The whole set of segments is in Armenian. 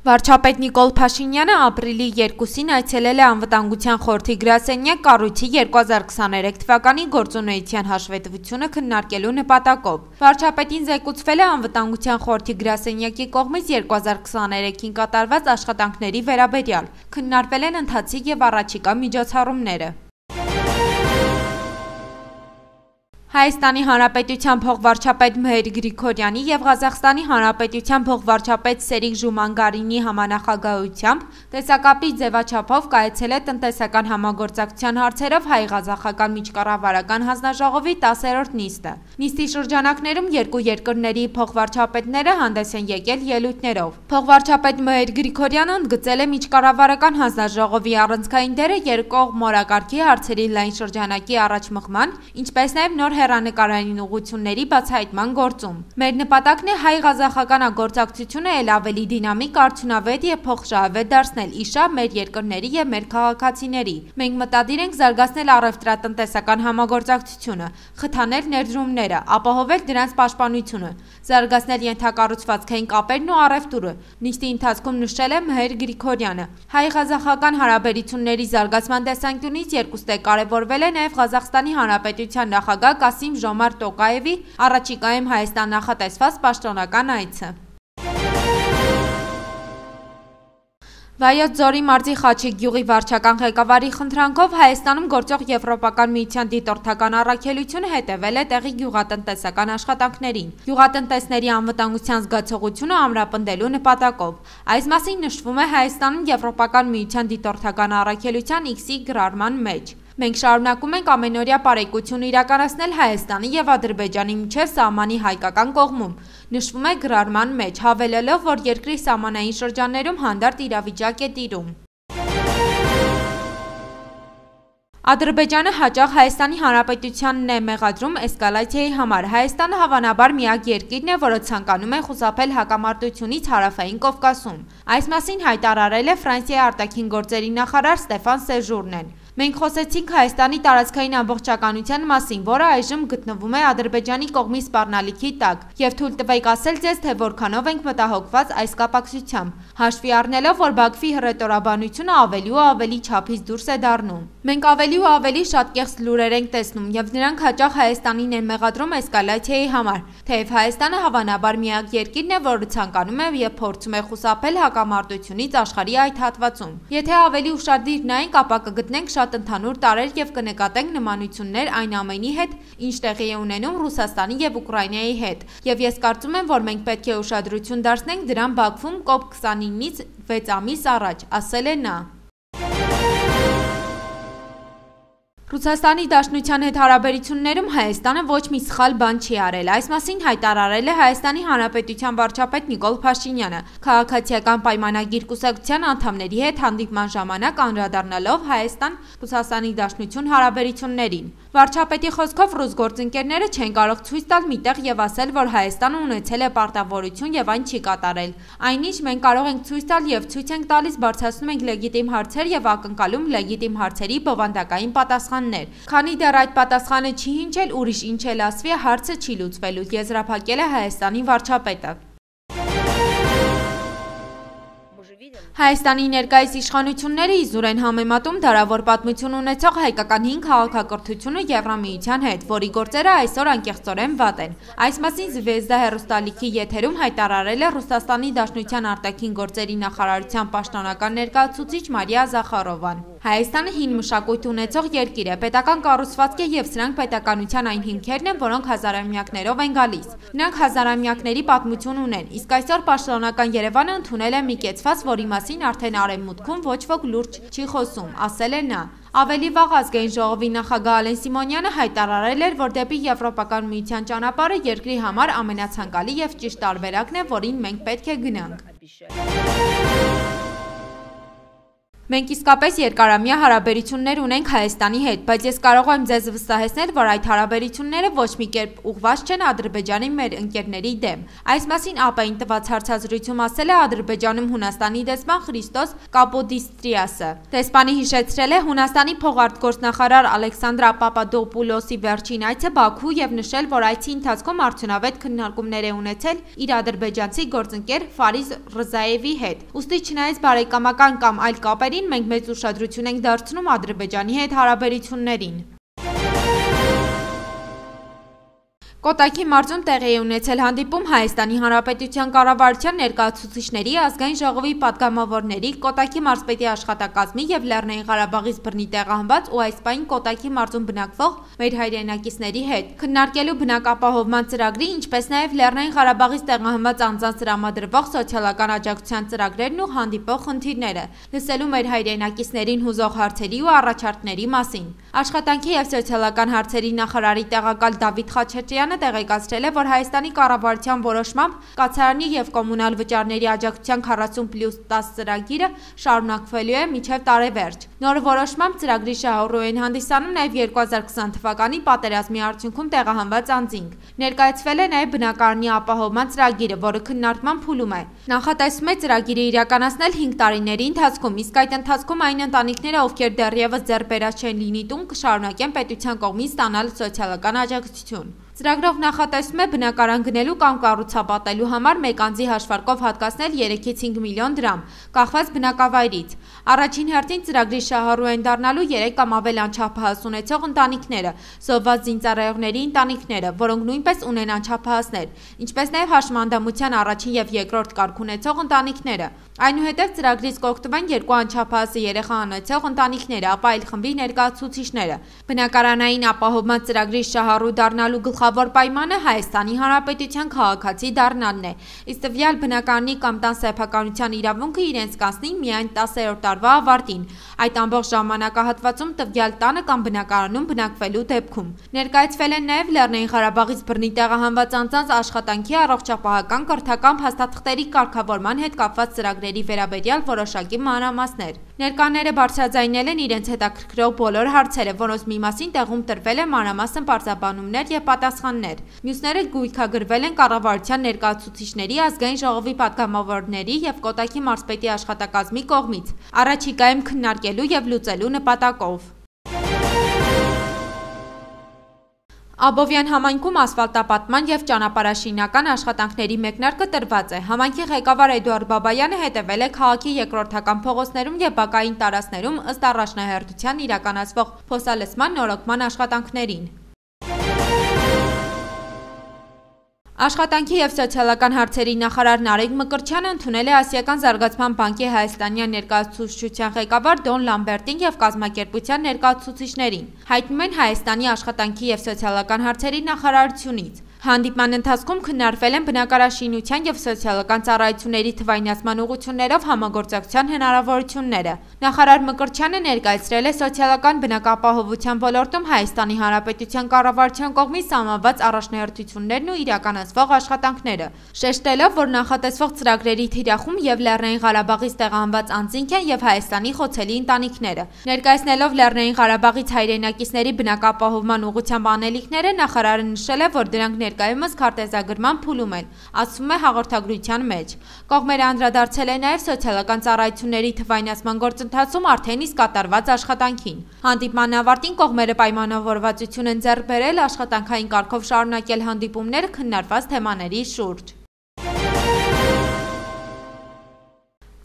Վարչապետ Նիկոլ Փաշինյանը ապրիլի 2-ին այցելել է Անվտանգության խորհրդի գրասենյակ կառույցի 2023 թվականի գործունեության հաշվետվությունը քննարկելու նպատակով։ Վարչապետին զեկուցվել է Անվտանգության խորհրդի գրասենյակի կողմից 2023-ին կատարված աշխատանքների վերաբերյալ։ Քննարկվել են ընթացիկ եւ առաջիկա միջոցառումները։ Հայաստանի Հանրապետության փոխվարչապետ Մհեր Գրիգորյանի եւ Ղազախստանի Հանրապետության փոխվարչապետ Սերիկ Ժումանգարինի համանախագահությամբ տեսակապի ձևաչափով կայացել է տնտեսական համագործակցության հարցերով հայ-ղազախական միջկառավարական հանձնաժողովի 10-րդ նիստը։ Նիստի շրջանակներում երկու երկրների փոխվարչապետները հանդես են եկել ելույթներով։ Փոխվարչապետ Մհեր Գրիգորյանը ընդգծել է միջկառավարական հանձնաժողովի առանցքային դերը երկկողմ մորակարգի հարցերի լայն շրջանակի առաջմղման, ինչպես նաեւ նոր հեռանկարային ուղղությունների բացահայտման գործում։ Մեր նպատակն է հայ-ղազախական գործակցությունը ել ավելի դինամիկ, արդյունավետ եւ փոխշահավետ դարձնել իշա մեր երկրների եւ մեր քաղաքացիների։ Մենք մտադիր ենք զարգացնել առևտրատնտեսական համագործակցությունը, խթանել ներդրումները, ապահովել դրանց պաշտպանությունը, զարգացնել ենթակառուցվածքային կապերն ու առևտուրը։ Նիստի ընթացքում նշել է Մհեր Գրիգորյանը։ Հայ-ղազախական հարաբերությունների զարգացման տեսանկյունից երկուստե կարևորվել է նաեւ Ղազախստանի Հանրապետության նախագահ Կասիմ Ժոմարտ Տոկաևի առաջիկայում Հայաստան նախատեսված պաշտոնական այցը։ Վայոց ձորի մարզի Խաչիկ գյուղի վարչական ղեկավարի խնդրանքով Հայաստանում գործող Եվրոպական միության դիտորդական առաքելությունը հետևել է տեղի գյուղատնտեսական աշխատանքներին, գյուղատնտեսների անվտանգության զգացողությունը ամրապնդելու նպատակով։ Այս մասին նշվում է Հայաստանում Եվրոպական միության դիտորդական առաքելության X-ի գրառման մեջ։ Մենք շարունակում ենք ամենօրյա պարեկություն իրականացնել Հայաստանի եւ Ադրբեջանի միջև սահմանի հայկական կողմում, նշվում է գրառման մեջ, հավելելով, որ երկրի սահմանային շրջաններում հանդարտ իրավիճակ է տիրում։ Ադրբեջանը հաճախ Հայաստանի Հանրապետությանն է մեղադրում էսկալացիայի համար։ Հայաստանը հավանաբար միակ երկիրն է, որը ցանկանում է խուսափել հակամարտությունից Հարավային Կովկասում։ Այս մասին հայտարարել է Ֆրանսիայի արտաքին գործերի նախարար Ստեֆան Սեժուրնեն։ Մենք խոսեցինք Հայաստանի տարածքային ամբողջականության մասին, որը այժմ գտնվում է Ադրբեջանի կողմի սպառնալիքի տակ, եւ թույլ տվեք ասել ձեզ, թե որքանով ենք մտահոգված այս կապակցությամբ, հաշվի առնելով, որ Բաքվի հռետորաբանությունը ավելի ու ավելի չափից դուրս է դառնում։ Մենք ավելի ու ավելի շատ կեղծ լուրեր ենք տեսնում, եւ նրանք հաճախ Հայաստանին են մեղադրում էսկալացիայի համար, թեև Հայաստանը հավանաբար միակ երկիրն է, որը ցանկանում է եւ փորձում է խուսափել հակամարտությունից աշխարհի այդ հատվածում։ Եթե ավելի ուշադիր նայենք, ապա կգտնենք շատ ընդհանուր տարեր եւ կնկատենք նմանություններ այն ամենի հետ, ինչ տեղի է ունենում Ռուսաստանի եւ Ուկրաինայի հետ։ Եվ ես կարծում եմ, որ մենք պետք է ուշադրություն դարձնենք դրան Բաքվում COP29-ից 6 ամիս առաջ, ասել է նա։ Ռուսաստանի Դաշնության հետ հարաբերություններում Հայաստանը ոչ մի սխալ բան չի արել։ Այս մասին հայտարարել է Հայաստանի Հանրապետության վարչապետ Նիկոլ Փաշինյանը, քաղաքացիական պայմանագիր կուսակցության անդամների հետ հանդիպման ժամանակ անդրադառնալով Հայաստան-Ռուսաստանի Դաշնություն հարաբերություններին։ Վարչապետի խոսքով ռուս գործընկերները չեն կարող ցույց տալ միտեղ եւ ասել, որ Հայաստանը ունեցել է պարտավորություն եւ այն չի կատարել։ Այնինչ մենք կարող ենք ցույց տալ եւ ցույց ենք տալիս, բարձրացնում ենք լեգիտիմ հարցեր եւ ակնկալում լեգիտիմ հարցերի բովանդակային պատասխաններ։ Քանի դեռ այդ պատասխանը չի հնչել, ուրիշ ինչ էլ ասվի, հարցը չի լուծվելու, եզրափակել է Հայաստանի վարչապետը։ Հայաստանի ներկայիս իշխանությունները իզուր են համեմատում դարավոր պատմություն ունեցող հայկական հին քաղաքակրթությունը Եվրամիության հետ, որի գործերը այսօր անկեղծորեն վատ են։ Այս մասին Զվեզդա հեռուստալիքի եթերում հայտարարել է Ռուսաստանի Դաշնության արտաքին գործերի նախարարության պաշտոնական ներկայացուցիչ Մարիա Զախարովան։ Հայաստանը հին մշակույթ ունեցող երկիր է, պետական կառուցվածք է եւ սրանք պետականության այն հիմքերն են, որոնք հազարամյակներով են գալիս։ Նրանք հազարամյակների պատմություն ունեն, իսկ այսօր պաշտոնական Երևանը ընդունել է մի կեցված, որի մասին արդեն արևմուտքում ոչ ոք լուրջ չի խոսում, ասել է նա։ Ավելի վաղ ազգային ժողովի նախագահ Ալեն Սիմոնյանը հայտարարել էր, որ դեպի Եվրոպական միության ճանապարհը երկրի համար ամենացանկալի եւ ճիշտ տարբերակն է, որին մենք պետք է գնանք։ Մենք իսկապես երկարամյա հարաբերություններ ունենք Հայաստանի հետ, բայց ես կարող եմ ձեզ վստահեցնել, որ այդ հարաբերությունները ոչ մի կերպ ուղղված չեն Ադրբեջանի մեր ընկերների դեմ։ Այս մասին ԱՊ-ին տված հարցազրույցում ասել է Ադրբեջանում Հունաստանի դեսպան Խրիստոս Կապոդիստրիասը։ Դեսպանի հիշեցրել է Հունաստանի փոխարտգործնախարար Ալեքսանդրա Պապադոպուլոսի վերջին այցը Բաքու եւ նշել, որ այցի ընթացքում արդյունավետ քննարկումներ է ունեցել իր ադրբեջանցի գործընկեր Ֆարիզ Ռզաևի հետ։ Ուստի չնայած բարեկամական կամ այլ կապերի մենք մեծ ուշադրություն ենք դարձնում Ադրբեջանի հետ հարաբերություններին։ Կոտայքի մարզում տեղի է ունեցել հանդիպում Հայաստանի Հանրապետության կառավարության ներկայացուցիչների, ազգային ժողովի պատգամավորների, Կոտայքի մարզպետի աշխատակազմի եւ Լեռնային Ղարաբաղից բռնի տեղահանված ու այս պահին Կոտայքի մարզում բնակվող մեր հայրենակիցների հետ, քննարկելու բնակապահովման ծրագրի, ինչպես նաեւ Լեռնային Ղարաբաղից տեղահանված անձանց տրամադրվող սոցիալական աջակցության ծրագրերն ու հանդիպող խնդիրները, լսելու մեր հայրենակիցներին հուզող հարցերի ու առաջարկների մասին։ Աշխատանքի եւ սոցիալական հարցերի նախարարի տեղակալ Դավիթ Խաչատրյանը տեղեկացրել է, որ Հայաստանի կառավարության որոշմամբ կացարանի եւ կոմունալ վճարների աջակցության 40+10 ծրագիրը շարունակվելու է մինչեւ տարեվերջ։ Նոր որոշմամբ ծրագրի շահառու են հանդիսանում նաեւ 2020 թվականի պատերազմի արդյունքում տեղահանված անձինք։ Ներկայացվել է նաեւ բնակարանի ապահովման ծրագիրը, որը քննարկման փուլում է։ Նախատեսվում է ծրագիրը իրականացնել 5 տարիների ընթացքում, իսկ այդ ընթացքում այն ընտանիքները, ովքեր դեռևս ձեռբերած չեն լինի տուն, կշարունակեն պետության կողմից ստանալ սոցիալական աջակցություն։ Ծրագրով նախատեսվում է բնակարան գնելու կամ կառուցապատելու համար մեկ անձի հաշվարկով հատկացնել 3-ից 5 միլիոն դրամ, կախված բնակավայրից։ Առաջին հերթին ծրագրի շահառու են դառնալու 3 կամ ավել անչափահաս ունեցող ընտանիքները, զոհված զինծառայողների ընտանիքները, որոնք նույնպես ունեն անչափահասներ, ինչպես նաև հաշմանդամության առաջին եւ երկրորդ կարգ ունեցող ընտանիքները։ Այնուհետև ծրագրից կօգտվեն 2 անչափահաս երեխա ունեցող ընտանիքները, ապա այլ խմբի ներկայացուցիչները։ Բնակարանային ապահովման ծրագրի շահառու դառնալու գլխավոր պայմանը Հայաստանի Հանրապետության քաղաքացի դառնալն է, իսկ տվյալ բնակարանի կամ տան սեփականության իրավունքը իրենց կանցնի միայն 10-րդ տարվա ավարտին, այդ ամբողջ ժամանակահատվածում տվյալ տանը կամ բնակարանում բնակվելու դեպքում։ Ներկայացվել են նաև Լեռնային Ղարաբաղից բռնի տեղահանված անձանց աշխատանքի, առողջապահական, կրթական փաստաթղթերի կարգավորման հետ կապված ծրագրերի վերաբերյալ որոշակի մանրամասներ։ Ներկաները բարձրաձայնել են իրենց հետաքրքրող բոլոր հարցերը, որոնց մի մասին տեղում տրվել է մանրամասն պարզաբանումներ եւ պատասխաններ։ Մյուսները գույքագրվել են կառավարության ներկայացուցիչների, ազգային ժողովի պատգամավորների եւ Կոտայքի մարզպետի աշխատակազմի կողմից, առաջիկայում քննարկելու եւ լուծելու նպատակով։ Աբովյան համայնքում ասֆալտապատման եւ ճանապարհաշինական աշխատանքների մեկնարկը տրված է։ Համայնքի ղեկավար Էդուարդ Բաբայանը հետևել է քաղաքի երկրորդական փողոցներում եւ բակային տարածքներում ըստ առաջնահերթության իրականացվող փոսալցման նորոգման աշխատանքներին։ Աշխատանքի եւ սոցիալական հարցերի նախարար Նարեկ Մկրտչյանը ընդունել է Ասիական զարգացման բանկի հայաստանյան ներկայացուցչության ղեկավար Դոն Լամբերտին եւ կազմակերպության ներկայացուցիչներին։ Հայտնում են Հայաստանի աշխատանքի եւ սոցիալական հարցերի նախարարությունից։ Հանդիպման ընթացքում քննարկվել են բնակարաշինության եւ սոցիալական ծառայությունների թվայնացման ուղղություններով համագործակցության հնարավորությունները։ Նախարար Մկրտչյանը ներկայացրել է սոցիալական բնակապահովության ոլորտում Հայաստանի Հանրապետության կառավարության կողմից սահմանված առաջնահերթություններն ու իրականացվող աշխատանքները, շեշտելով, որ նախատեսվող ծրագրերի թիրախում եւ Լեռնային Ղարաբաղից տեղահանված անձինք են եւ Հայաստանի խոցելի ընտանիքները։ Ներկայացնելով Լեռնային Ղարաբաղից հայրենակիցների բնակապահովման ուղղությամբ անելիքները, նախարարը նշել է, որ դրանք ներկայումս քարտեզագրման փուլում են, ասվում է հաղորդագրության մեջ։ Կողմերը անդրադարձել են նաև սոցիալական ծառայությունների թվայնացման գործընթացում արդեն իսկ կատարված աշխատանքին։ Հանդիպման ավարտին կողմերը պայմանավորվածություն են ձեռք բերել աշխատանքային կարգով շարունակել հանդիպումները քննարկված թեմաների շուրջ։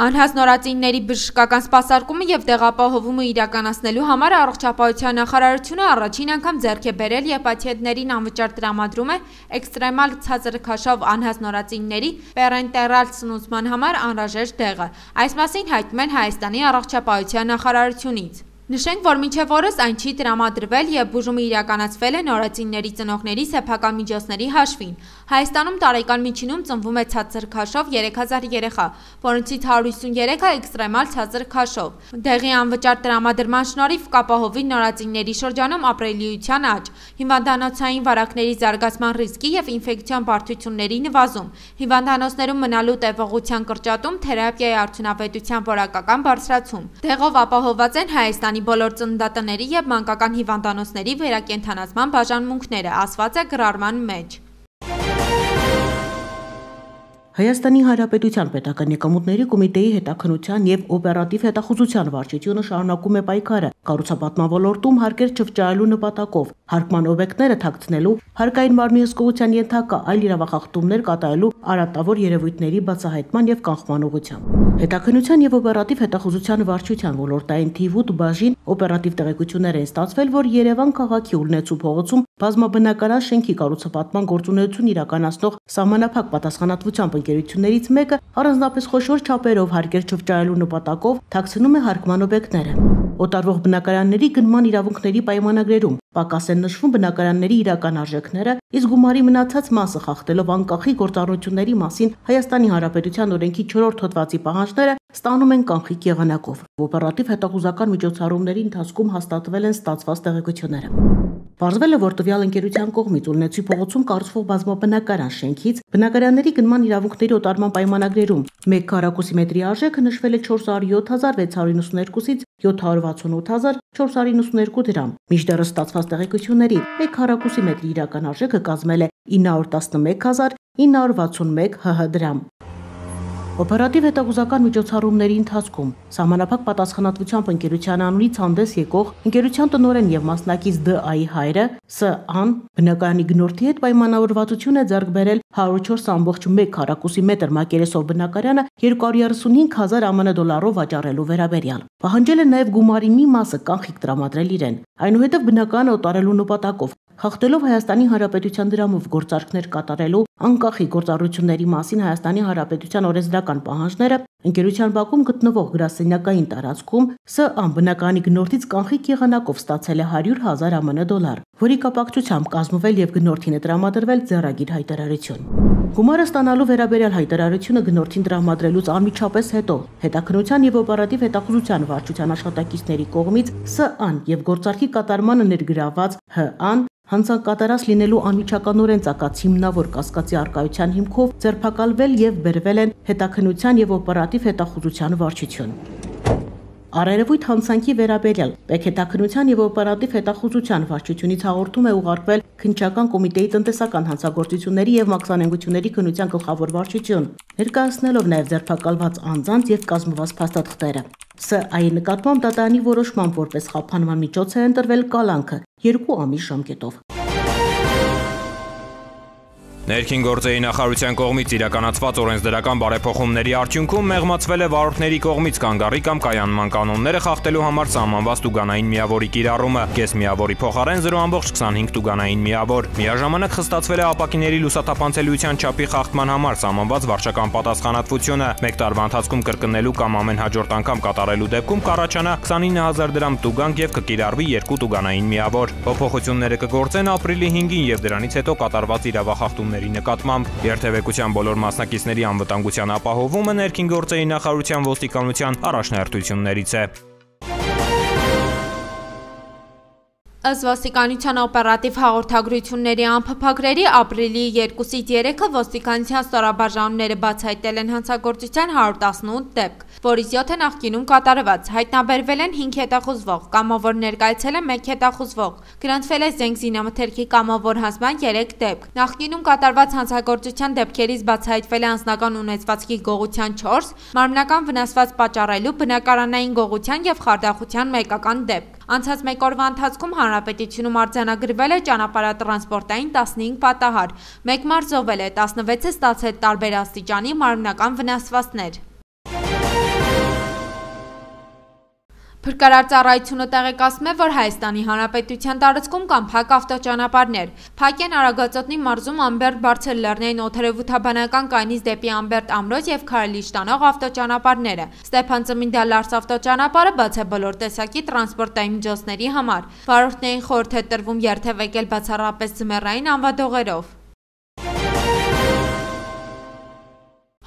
Անհաս նորածինների բժշկական սպասարկումը եւ տեղապահովումը իրականացնելու համար առողջապահության նախարարությունը առաջին անգամ ձեռք է բերել եւ պացիենտներին անվճար տրամադրում է էքստրեմալ ցածր քաշով անհաս նորածինների պերենտերալ սնուցման համար անհրաժեշտ դեղը։ Այս մասին հայտնում են Հայաստանի առողջապահության նախարարությունից։ Նշենք, որ մինչև օրս այն չի տրամադրվել եւ բուժումը իրականացվել է նորածինների ծնողների սեփական միջոցների հաշվին։ Հայաստանում տարեկան միջինում ծնվում է ցածր քաշով 3000 երեխա, որոնցից 153-ը էքստրեմալ ցածր քաշով։ Դեղի անվճար տրամադրման շնորհիվ կապահովի նորածինների շրջանում ապրելիության աճ, հիվանդանոցային վարակների զարգացման ռիսկի և ինֆեկցիոն բարդությունների նվազում, հիվանդանոցներում մնալու տևողության կրճատում, թերապիայի արդյունավետության որակական բարձրացում։ Դեղով ապահովված են Հայաստանի բոլոր ծննդատների և մանկական հիվանդանոցների վերակենդանացման բաժանմունքները, ասված է գրառման մեջ։ Հայաստանի Հանրապետության պետական եկամուտների կոմիտեի հետաքննության և օպերատիվ հետախուզության վարչությունը շարունակում է պայքարը կառուցապատման ոլորտում հարկեր չվճարելու նպատակով, հարկման օբյեկտները թաքցնելու, հարկային մարմնի հսկողության ենթակա այլ իրավախախտումներ կատարելու արատավոր երևույթների բացահայտման և կանխման ուղղությամբ։ Հետաքննության և օպերատիվ հետախուզության վարչության ոլորտային թիվ 8 բաժին օպերատիվ տեղեկություններ են ստացվել, որ Երևան քաղաքի Ուլնեցու փողոցում բազմաբնակարան շենքի կառուցապատման գործունեություն իրականացնող սահմանափակ պատասխանատվությամբ ընկերություններից մեկը առանձնապես խոշոր չափերով հարկեր չվճարելու նպատակով թաքցնում է հարկման օբյեկտները։ Օտարվող բնակարանների գնման իրավունքների պայմանագրերում պակաս են նշվում բնակարանների իրական արժեքները, իսկ գումարի մնացած մասը խախտելով անկախի գործառույթների մասին Հայաստանի Հանրապետության օրենքի 4-րդ հոդվածի պահանջները ստանում են կանխիկ եղանակով։ Օպերատիվ հետախուզական միջոցառումների ընթացքում հաստատվել են ստացված տեղեկությունները։ Պարզվել է, որ տվյալ ընկերության կողմից Ուլնեցի փողոցում կառուցվող բազմաբնակարան շենքից բնակարանների գնման իրավունքների օտարման պայմանագրերում 1 քառակուսի մետրի արժեքը նշվել է 407.692-ից 768.492 դրամ։ Մինչդեռ ստացված տեղեկությունների 1 քառակուսի մետրի իրական արժեքը կազմել է 911.961 ՀՀ դրամ։ Օպերատիվ հետախուզական միջոցառումների ընթացքում սահմանափակ պատասխանատվությամբ ընկերության անունից հանդես եկող ընկերության տնօրեն եւ մասնակից ԴԱ-ի հայրը Ս.Ան բնակարանի գնորդի հետ պայմանավորվածություն է ձեռք բերել 104.1 քառակուսի մետր մակերեսով բնակարանը 235.000 ԱՄՆ դոլարով վաճառելու վերաբերյալ։ Պահանջել է նաեւ գումարի մի մասը կանխիկ տրամադրել իրեն։ Այնուհետև բնակարանը օտարելու նպատակով խախտելով Հայաստանի Հանրապետության դրամով գործարքներ կատարելու անկախի գործառույթների մասին Հայաստանի Հանրապետության օրենսդրական պահանջները ընկերության բակում գտնվող գրասենյակային տարածքում Ս.Ան բնակարանի գնորդից կանխիկ եղանակով ստացել է 100.000 ԱՄՆ դոլար, որի կապակցությամբ կազմվել եւ գնորդին է տրամադրվել ձեռագիր հայտարարություն։ Գումարը ստանալու վերաբերյալ հայտարարությունը գնորդին տրամադրելուց անմիջապես հետո հետաքննության եւ օպերատիվ հետախուզության վարչության աշխատակիցների կողմից Ս.Ան եւ գործարքի կատարմանը ներգրաված Հ.Ան հանցանկատարած լինելու անմիջականորեն ծագած հիմնավոր կասկածի առկայության հիմքով ձերբակալվել եւ բերվել են հետաքննության եւ օպերատիվ հետախուզության վարչություն։ Առերևույթ հանցանքի վերաբերյալ պետքետաքննության եւ օպերատիվ հետախուզության վարչությունից հաղորդում է ուղարկվել քննչական կոմիտեի տնտեսական հանցագործությունների եւ մաքսանենգությունների քննության գլխավոր վարչություն, ներկայացնելով նաեւ ձերբակալված անձանց եւ կազմված փաստաթղթերը։ Ս.Ա.-ի նկատմամբ դատարանի որոշմամբ որպես խափանման միջոց է ընտրվել կալանքը 2 ամիս ժամկետով։ Ներքին գործերի նախարարության կողմից իրականացված օրենսդրական բարեփոխումների արդյունքում մեղմացվել է վարորդների կողմից կանգառի կամ կայանման կանոնները խախտելու համար սահմանված տուգանային միավորի կիրառումը, կես միավորի փոխարեն 0.25 տուգանային միավոր։ Միաժամանակ խստացվել է ապակիների լուսաթափանցելիության չափի խախտման համար սահմանված վարչական պատասխանատվությունը։ 1 տարվա ընթացքում կրկնելու կամ ամեն հաջորդ անգամ կատարելու դեպքում կառաջանա 29000 դրամ տուգանք եւ կկիրառվի 2 տուգանային միավոր։ Փոփոխությունները կգործեն ապրիլի 5-ին եւ դրանից հետո կատարված իրավախախտումների նկատմամբ երթևեկության բոլոր մասնակիցների անվտանգության ապահովումը ներքին գործերի նախարարության ոստիկանության առաջնահերթություններից է։ Ըստ ոստիկանության օպերատիվ հաղորդագրությունների անփափագրերի ապրիլի 2-ից 3-ը ոստիկանության ստորաբաժանումները բացահայտել են հանցագործության 118 դեպք, որից 7-ը նախկինում կատարված, հայտնաբերվել են 5 հետախուզվող, կամավոր ներկայացել է 1 հետախուզվող, գրանցվել է զենք զինամթերքի կամավոր հանձնման 3 դեպք։ Նախկինում կատարված հանցագործության դեպքերից բացահայտվել է անձնական ունեցվածքի գողության 4, մարմնական վնասված պատճառելու, բնակարանային գողության եւ խարդախության մեկական դեպք։ Անցած մեկ օրվա ընթացքում Հանրապետությունում արձանագրվել է ճանապարհատրանսպորտային 15 պատահար, 1 մարդ զոհվել է, 16-ը ստացել տարբեր աստիճանի մարմնական վնասվածքներ։ Փրկարար ծառայությունը տեղեկացնում է, որ Հայաստանի Հանրապետության տարածքում կան փակ ավտոճանապարհներ։ Փակ են Արագածոտնի մարզում Ամբերդ-Բարցելլեռնային օդերևութաբանական կայնից դեպի Ամբերդ ամրոց եւ Քարալիշ տանող ավտոճանապարհները։ Ստեփան-Ծմինդա-Լարս ավտոճանապարհը բաց է բոլոր տեսակի տրանսպորտային միջոցների համար։ Վարորդներին խորհուրդ է տրվում երթևեկել բացառապես ձմեռային անվադողերով։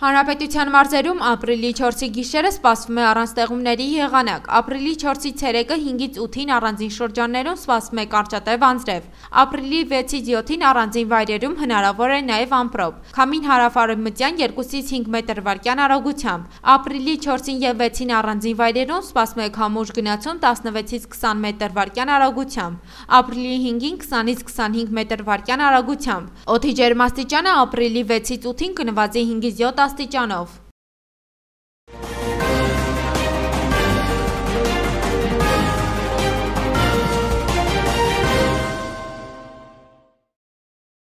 Հանրապետության մարզերում ապրիլի 4-ի գիշերը սպասվում է առանց տեղումների եղանակ, ապրիլի 4-ից 3-ը 5-ից 8-ին առանձին շրջաններում սպասվում է կարճատև անձրև, ապրիլի 6-ից 7-ին առանձին վայրերում հնարավոր է նաև ամպրոպ, քամին հարավ-արևմտյան 2-ից 5 մետր/վայրկյան արագությամբ, ապրիլի 4-ին եւ 6-ին առանձին վայրերում սպասվում է քամուշ գնացում 16-ից 20 մետր/վայրկյան արագությամբ, ապրիլի 5-ին 20-ից 25 մետր/վայրկյան արագությամբ, օդի ջերմաստիճանը ապրիլի 6-ից 8-ին կնվազի 5-ից 7 աստիճանով։